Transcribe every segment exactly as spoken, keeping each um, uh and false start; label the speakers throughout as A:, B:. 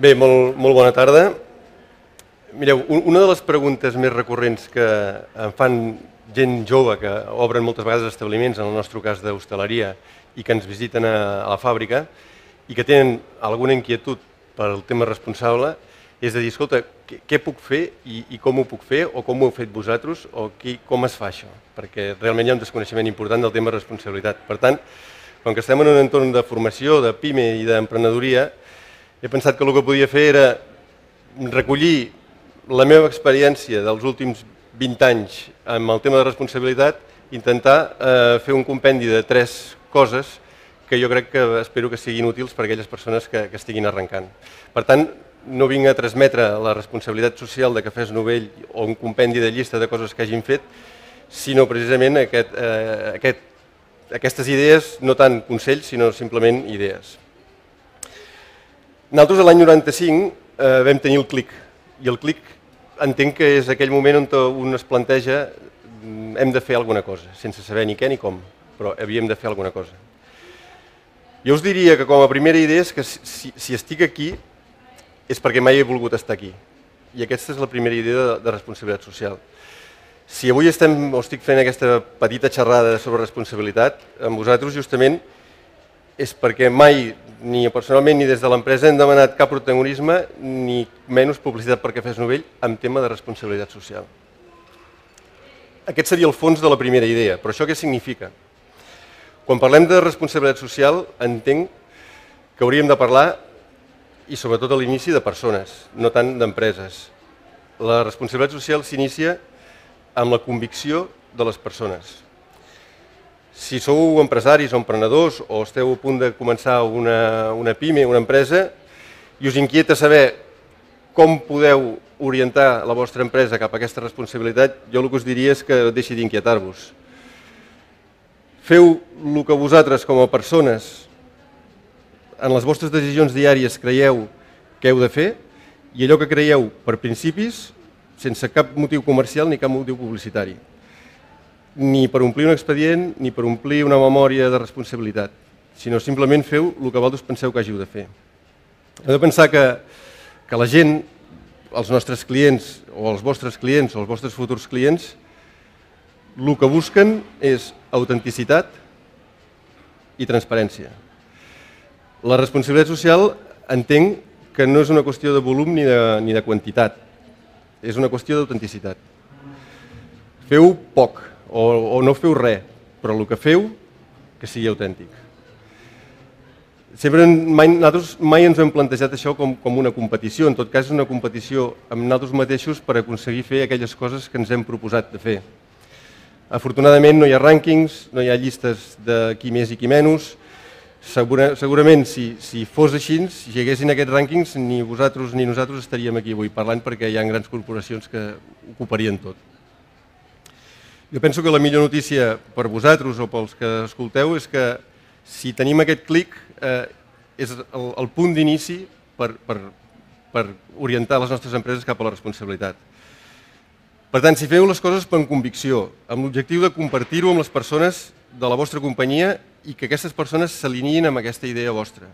A: Bé, molt, molt bona tarda. Mireu, una de les preguntes més recurrents que em fan gent jove que obren moltes vegades establiments, en el nostre cas d'hostaleria, i que ens visiten a la fàbrica i que tenen alguna inquietud pel tema responsable, és de dir, escolta, què puc fer i com ho puc fer, o com ho heu fet vosaltres, o com es fa això? Perquè realment hi ha un desconeixement important del tema de responsabilitat. Per tant, com que estem en un entorn de formació, de PIME i d'emprenedoria, he pensat que el que podia fer era recollir la meva experiència dels últims vint anys amb el tema de responsabilitat, intentar fer un compendi de tres coses que jo crec que espero que siguin útils per a aquelles persones que estiguin arrencant. Per tant, no vinc a transmetre la responsabilitat social de Cafès Novell o un compendi de llista de coses que hagin fet, sinó precisament aquestes idees, no tant consells, sinó simplement idees. Nosaltres l'any noranta-cinc vam tenir el CLIC, i el CLIC entenc que és aquell moment on un es planteja hem de fer alguna cosa, sense saber ni què ni com, però havíem de fer alguna cosa. Jo us diria que com a primera idea és que si estic aquí és perquè mai he volgut estar aquí, i aquesta és la primera idea de responsabilitat social. Si avui estem o estic fent aquesta petita xerrada sobre responsabilitat amb vosaltres justament és perquè mai, ni personalment ni des de l'empresa, hem demanat cap protagonisme ni menys publicitat per Cafès Novell en tema de responsabilitat social. Aquest seria el fons de la primera idea, però això què significa? Quan parlem de responsabilitat social entenc que hauríem de parlar, i sobretot a l'inici, de persones, no tant d'empreses. La responsabilitat social s'inicia amb la convicció de les persones. Si sou empresaris o emprenedors o esteu a punt de començar una PIME, una empresa, i us inquieta saber com podeu orientar la vostra empresa cap a aquesta responsabilitat, jo el que us diria és que deixi d'inquietar-vos. Feu el que vosaltres com a persones en les vostres decisions diàries creieu que heu de fer i allò que creieu per principis, sense cap motiu comercial ni cap motiu publicitari. Ni per omplir un expedient, ni per omplir una memòria de responsabilitat, sinó simplement feu el que vosaltres penseu que hàgiu de fer. Heu de pensar que la gent, els nostres clients, o els vostres clients, o els vostres futurs clients, el que busquen és autenticitat i transparència. La responsabilitat social entenc que no és una qüestió de volum ni de quantitat, és una qüestió d'autenticitat. Feu poc, o no feu res, però el que feu que sigui autèntic. Nosaltres mai ens hem plantejat això com una competició, en tot cas és una competició amb nosaltres mateixos per aconseguir fer aquelles coses que ens hem proposat de fer. Afortunadament no hi ha rànquings, no hi ha llistes de qui més i qui menys. Segurament si fos així, si hi haguessin aquests rànquings, ni vosaltres ni nosaltres estaríem aquí avui parlant perquè hi ha grans corporacions que ocuparien tot. Jo penso que la millor notícia per vosaltres o pels que escolteu és que si tenim aquest clic és el punt d'inici per orientar les nostres empreses cap a la responsabilitat. Per tant, si feu les coses per convicció, amb l'objectiu de compartir-ho amb les persones de la vostra companyia i que aquestes persones s'alineïn amb aquesta idea vostra.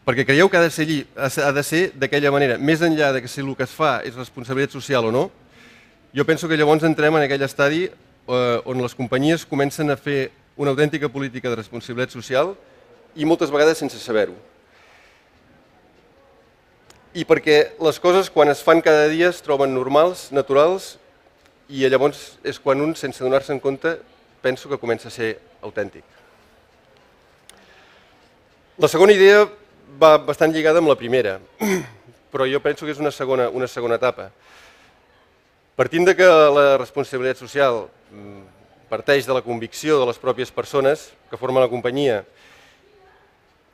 A: Perquè creieu que ha de ser d'aquella manera, més enllà de que si el que es fa és responsabilitat social o no, jo penso que llavors entrem en aquell estadi on les companyies comencen a fer una autèntica política de responsabilitat social i moltes vegades sense saber-ho. I perquè les coses quan es fan cada dia es troben normals, naturals, i llavors és quan un, sense donar-se en compte, penso que comença a ser autèntic. La segona idea va bastant lligada amb la primera, però jo penso que és una segona etapa. Partint que la responsabilitat social parteix de la convicció de les pròpies persones que formen la companyia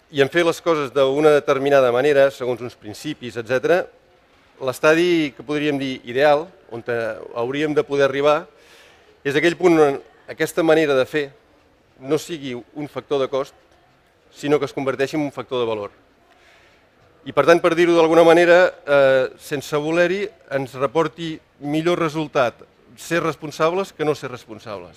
A: i en fer les coses d'una determinada manera, segons uns principis, etcètera, l'estadi que podríem dir ideal, on hauríem de poder arribar, és aquell punt on aquesta manera de fer no sigui un factor de cost, sinó que es converteixi en un factor de valor. I per tant, per dir-ho d'alguna manera, sense voler-hi, ens reporti millor resultat ser responsables que no ser responsables.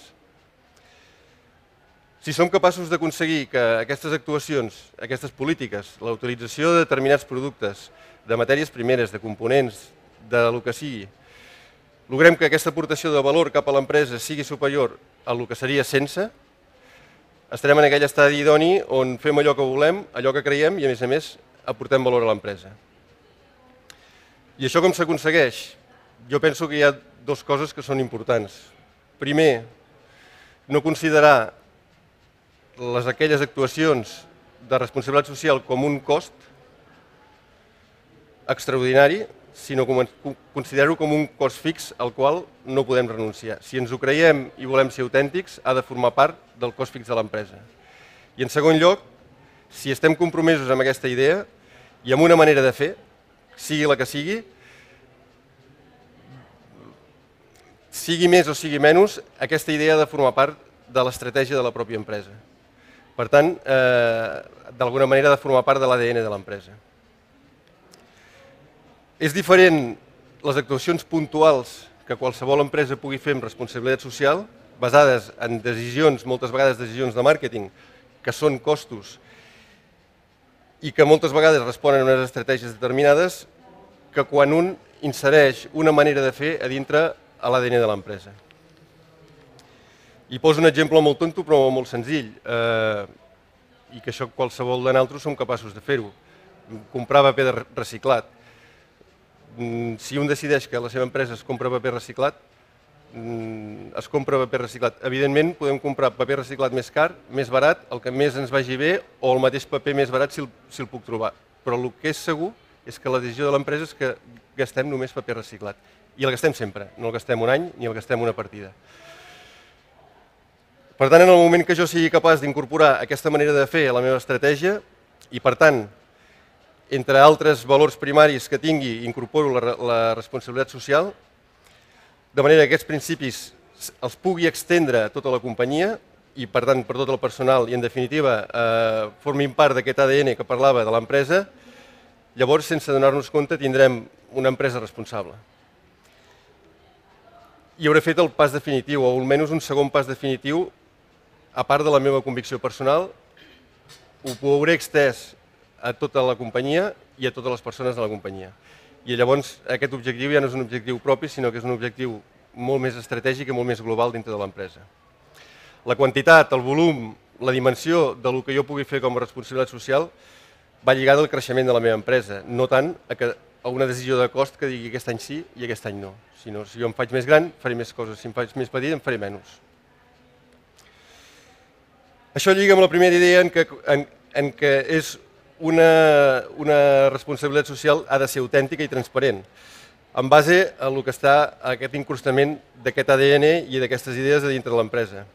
A: Si som capaços d'aconseguir que aquestes actuacions, aquestes polítiques, la utilització de determinats productes, de matèries primeres, de components, de lo que sigui, logrem que aquesta aportació de valor cap a l'empresa sigui superior a lo que seria sense, estarem en aquell estadi idoni on fem allò que volem, allò que creiem i, a més a més, aportem valor a l'empresa. I això com s'aconsegueix? Jo penso que hi ha dues coses que són importants. Primer, no considerar les aquelles actuacions de responsabilitat social com un cost extraordinari, sinó considerar-ho com un cost fix al qual no podem renunciar. Si ens ho creiem i volem ser autèntics, ha de formar part del cost fix de l'empresa. I en segon lloc, si estem compromesos amb aquesta idea i amb una manera de fer, sigui la que sigui, sigui més o sigui menys, aquesta idea ha de formar part de l'estratègia de la pròpia empresa. Per tant, d'alguna manera ha de formar part de l'A D N de l'empresa. És diferent les actuacions puntuals que qualsevol empresa pugui fer amb responsabilitat social, basades en decisions, moltes vegades decisions de màrqueting, que són costos i que moltes vegades responen a unes estratègies determinades, que quan un insereix una manera de fer a dintre a l'A D N de l'empresa. I poso un exemple molt tonto però molt senzill, i que això qualsevol de nosaltres som capaços de fer-ho. Comprar paper reciclat. Si un decideix que la seva empresa es compra paper reciclat, es compra paper reciclat. Evidentment podem comprar paper reciclat més car, més barat, el que més ens vagi bé, o el mateix paper més barat si el puc trobar. Però el que és segur és que la decisió de l'empresa és que gastem només paper reciclat. I el gastem sempre, no el gastem un any ni el gastem una partida. Per tant, en el moment que jo sigui capaç d'incorporar aquesta manera de fer a la meva estratègia i, per tant, entre altres valors primaris que tingui, incorporo la responsabilitat social, de manera que aquests principis els pugui extendre a tota la companyia i, per tant, per tot el personal i, en definitiva, formin part d'aquest A D N que parlava de l'empresa, llavors, sense donar-nos compte, tindrem una empresa responsable. I hauré fet el pas definitiu, o almenys un segon pas definitiu, a part de la meva convicció personal, ho hauré extès a tota la companyia i a totes les persones de la companyia. I llavors aquest objectiu ja no és un objectiu propi, sinó que és un objectiu molt més estratègic i molt més global dintre de l'empresa. La quantitat, el volum, la dimensió del que jo pugui fer com a responsabilitat social va lligada al creixement de la meva empresa, no tant a una decisió de cost que digui aquest any sí i aquest any no, sinó si jo em faig més gran faré més coses, si em faig més petit em faré menys. Això lliga amb la primera idea en què és una responsabilitat social ha de ser autèntica i transparent, en base a el que està aquest incrustament d'aquest A D N i d'aquestes idees de dintre de l'empresa.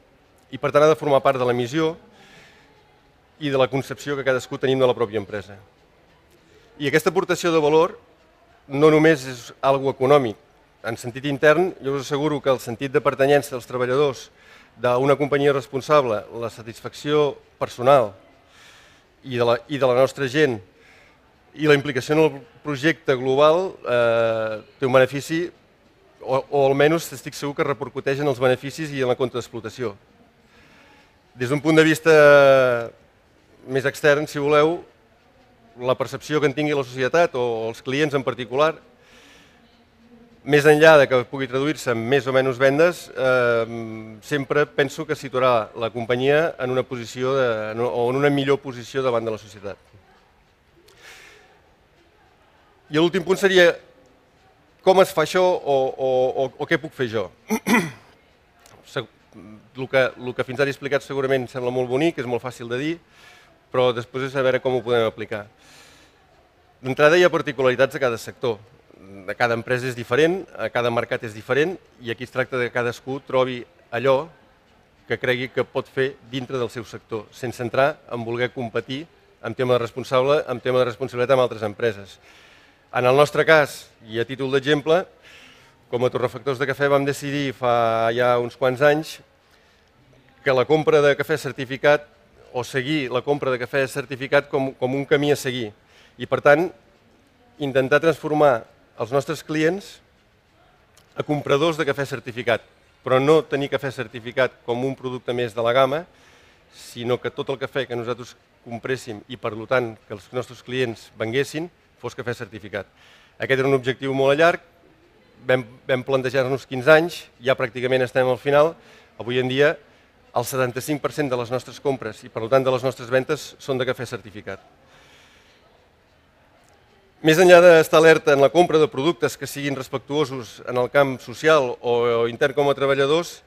A: I per tant ha de formar part de la missió i de la concepció que cadascú tenim de la pròpia empresa. I aquesta aportació de valor no només és algo econòmic. En sentit intern, jo us asseguro que el sentit de pertanyència dels treballadors d'una companyia responsable, la satisfacció personal i de la nostra gent i la implicació en el projecte global té un benefici, o almenys estic segur que repercuteix en els beneficis i en la compte d'explotació. Des d'un punt de vista més extern, si voleu, la percepció que en tingui la societat o els clients en particular, més enllà que pugui traduir-se en més o menys vendes, sempre penso que situarà la companyia en una posició o en una millor posició davant de la societat. I l'últim punt seria com es fa això o què puc fer jo. El que fins ara he explicat segurament sembla molt bonic, és molt fàcil de dir, però després és a veure com ho podem aplicar. D'entrada hi ha particularitats a cada sector. Cada empresa és diferent, cada mercat és diferent i aquí es tracta que cadascú trobi allò que cregui que pot fer dintre del seu sector, sense entrar en voler competir en tema de responsabilitat amb altres empreses. En el nostre cas, i a títol d'exemple, com a torrefactors de cafè vam decidir fa ja uns quants anys que la compra de cafè certificat o seguir la compra de cafè certificat com un camí a seguir i, per tant, intentar transformar els nostres clients a compradors de cafè certificat, però no tenir cafè certificat com un producte més de la gamma, sinó que tot el cafè que nosaltres compréssim i, per tant, que els nostres clients venguessin, fos cafè certificat. Aquest era un objectiu molt a llarg, vam, vam plantejar-nos quinze anys, ja pràcticament estem al final. Avui en dia, el setanta-cinc per cent de les nostres compres i, per tant, de les nostres ventes són de cafè certificat. Més enllà d'estar alerta en la compra de productes que siguin respectuosos en el camp social o intern com a treballadors,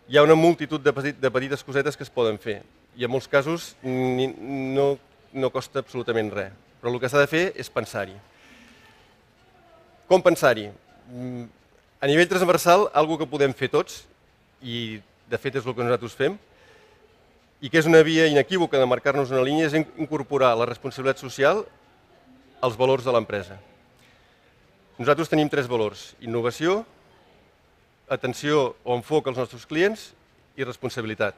A: hi ha una multitud de, petit, de petites cosetes que es poden fer i en molts casos ni, no, no costa absolutament res, però el que s'ha de fer és pensar-hi. Com pensar-hi? A nivell transversal, una cosa que podem fer tots, i de fet és el que nosaltres fem, i que és una via inequívoca de marcar-nos una línia, és incorporar la responsabilitat social als valors de l'empresa. Nosaltres tenim tres valors: innovació, atenció o enfoc als nostres clients i responsabilitat.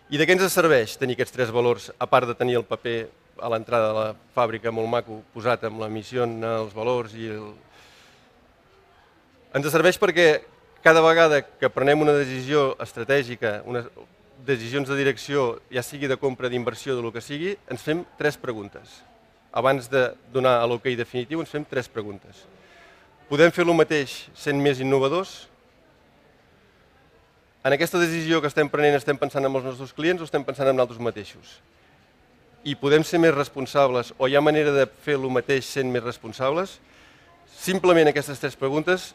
A: I de què ens serveix tenir aquests tres valors, a part de tenir el paper a l'entrada de la fàbrica molt maco posat amb la missió, els valors i el... Ens serveix perquè cada vegada que prenem una decisió estratègica, unes decisions de direcció, ja sigui de compra, d'inversió, de lo que sigui, ens fem tres preguntes. Abans de donar l'ok definitiu, ens fem tres preguntes. Podem fer el mateix sent més innovadors? En aquesta decisió que estem prenent estem pensant en els nostres clients o estem pensant en nosaltres mateixos? I podem ser més responsables o hi ha manera de fer el mateix sent més responsables? Simplement aquestes tres preguntes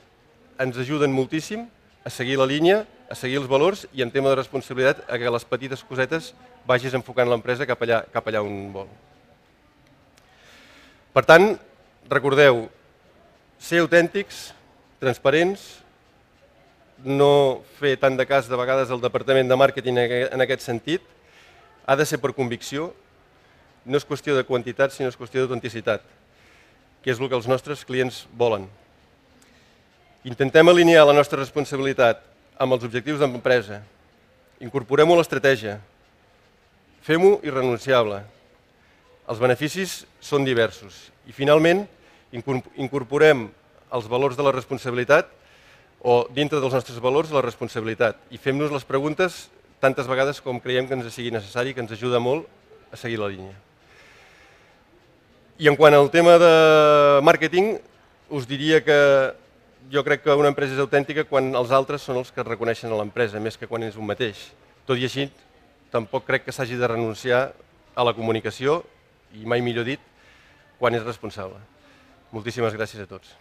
A: ens ajuden moltíssim a seguir la línia, a seguir els valors i en tema de responsabilitat a que les petites cosetes vagis enfocant l'empresa cap allà, cap allà on vol. Per tant, recordeu, ser autèntics, transparents, no fer tant de cas de vegades al departament de màrqueting en aquest sentit, ha de ser per convicció, no és qüestió de quantitat sinó és qüestió d'autenticitat, que és el que els nostres clients volen. Intentem alinear la nostra responsabilitat amb els objectius de l'empresa, incorporem-ho a l'estratègia, fem-ho irrenunciable. Els beneficis són diversos i finalment incorporem els valors de la responsabilitat o dintre dels nostres valors la responsabilitat i fem-nos les preguntes tantes vegades com creiem que ens sigui necessari, que ens ajuda molt a seguir la línia. I en quant al tema de màrqueting, us diria que jo crec que una empresa és autèntica quan els altres són els que reconeixen a l'empresa, més que quan és un mateix. Tot i així, tampoc crec que s'hagi de renunciar a la comunicació, i mai millor dit, quan és responsable. Moltíssimes gràcies a tots.